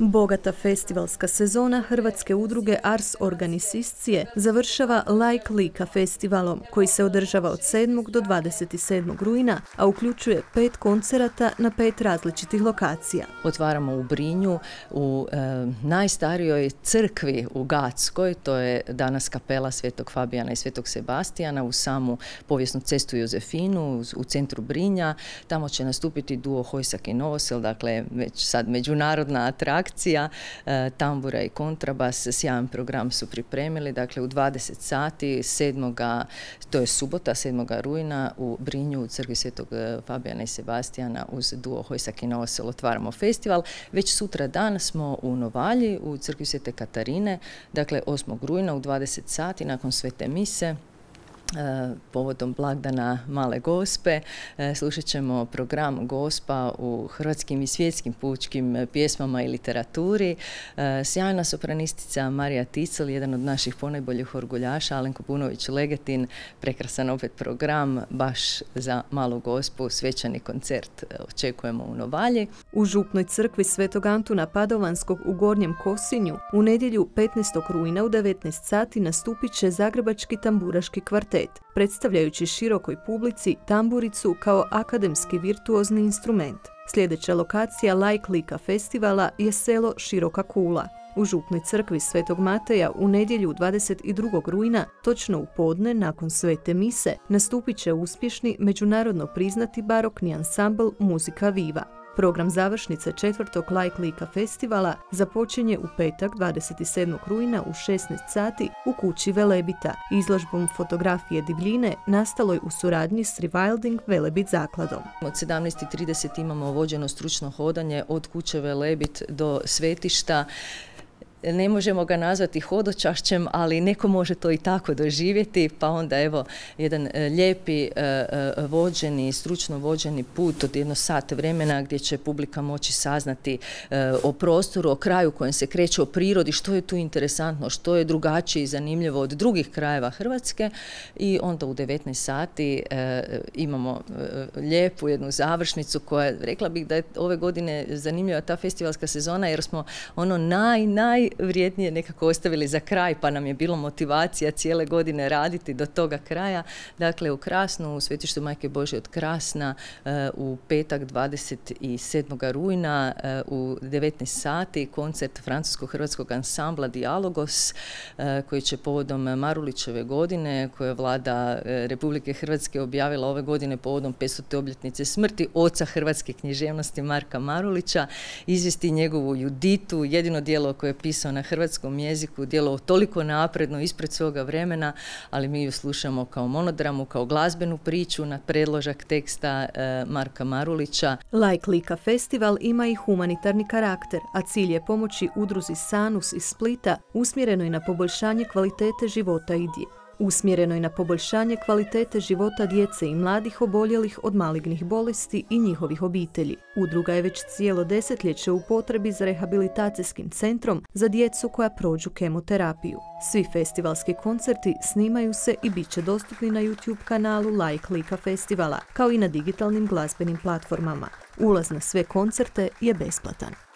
Bogata festivalska sezona hrvatske udruge Ars Organiciscije završava Like Lika festivalom, koji se održava od 7. do 27. rujna, a uključuje 5 koncerata na 5 različitih lokacija. Otvaramo u Brinju, u najstarijoj crkvi u Gatskoj, to je danas kapela Svetog Fabijana i Svetog Sebastijana, u samu povijesnu cestu Jozefinu, u centru Brinja. Tamo će nastupiti duo Hojsak i Novosel, dakle već sad međunarodna atrakcija. Tambura i kontrabas, sjajan program su pripremili, dakle u 20 sati 7. to je subota 7. rujna u Brinju u crkvi Svetog Fabijana i Sebastijana uz duo Hojsak i Novosel otvaramo festival. Već sutra dan smo u Novalji u crkvi Svete Katarine, dakle 8. rujna u 20 sati nakon svete mise. Povodom blagdana Male Gospe slušat ćemo program Gospa u hrvatskim i svjetskim pučkim pjesmama i literaturi. Sjajna sopranistica Marija Ticel, jedan od naših ponajboljih orguljaša, Alenko Punović-Legetin, prekrasan opet program baš za Malu Gospu, svečani koncert očekujemo u Novalji. U župnoj crkvi Svetog Antuna Padovanskog u Gornjem Kosinju u nedjelju 15. rujna u 19 sati nastupit će Zagrebački tamburaški kvartet, predstavljajući širokoj publici tamburicu kao akademski virtuozni instrument. Sljedeća lokacija Like Lika festivala je selo Široka Kula. U župnoj crkvi Svetog Mateja u nedjelju 22. rujna, točno u podne nakon svete mise, nastupit će uspješni međunarodno priznati barokni ansambl Muzika Viva. Program završnice 4. Like Lika festivala započinje u petak 27. rujna u 16 sati u kući Velebita, izložbom fotografije divljine nastaloj u suradnji s Rewilding Velebit zakladom. Od 17:30 imamo vođeno stručno hodanje od kuće Velebit do svetišta. Ne možemo ga nazvati hodočašćem, ali neko može to i tako doživjeti, pa onda evo jedan lijepi vođeni, stručno vođeni put od 1 sat vremena gdje će publika moći saznati o prostoru, o kraju kojem se kreće, o prirodi, što je tu interesantno, što je drugačije i zanimljivo od drugih krajeva Hrvatske. I onda u 19 sati imamo lijepu jednu završnicu koja, rekla bih da je ove godine zanimljiva ta festivalska sezona jer smo ono najvrijednije nekako ostavili za kraj, pa nam je bilo motivacija cijele godine raditi do toga kraja. Dakle, u Krasnu, u Svetištu Majke Božje od Krasna, u petak 27. rujna u 19 sati koncert francusko-hrvatskog ansambla Dialogos, koji će povodom Marulićeve godine, koje je vlada Republike Hrvatske objavila ove godine povodom 500. obljetnice smrti oca hrvatske književnosti Marka Marulića, izvesti njegovu Juditu, jedino djelo koje je pisao na hrvatskom jeziku, djelo toliko napredno ispred svoga vremena, ali mi ju slušamo kao monodramu, kao glazbenu priču na predložak teksta Marka Marulića. Like Lika festival ima i humanitarni karakter, a cilj je pomoći udruzi Sanus iz Splita usmjerenoj na poboljšanje kvalitete života života djece i mladih oboljelih od malignih bolesti i njihovih obitelji. Udruga je već cijelo desetljeće u potrebi za rehabilitacijskim centrom za djecu koja prođu kemoterapiju. Svi festivalski koncerti snimaju se i bit će dostupni na YouTube kanalu Like Lika festivala, kao i na digitalnim glazbenim platformama. Ulaz na sve koncerte je besplatan.